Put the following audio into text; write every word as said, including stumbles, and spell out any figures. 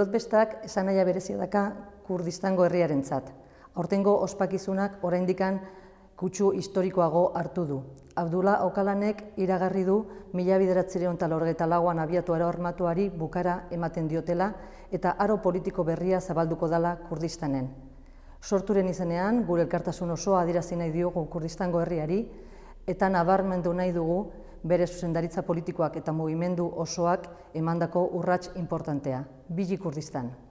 Birotbestak esan nahia berezia daka Kurdistango herriarentzat. Aurtengo ospakizunak oraindikan kutsu historikoago hartu du. Abdullah Öcalanek iragarri du mila bederatziehun eta laurogeita lauan abiatu aro armatuari bukara ematen diotela eta aro politiko berria zabalduko dela Kurdistanen. Sorturen izenean, gure elkartasun osoa adierazi nahi diogu Kurdistango herriari eta nabarmendu nahi dugu bere zuzendaritza politikoak eta mugimendu osoak emandako urrats inportantea. Bili Kurdistan!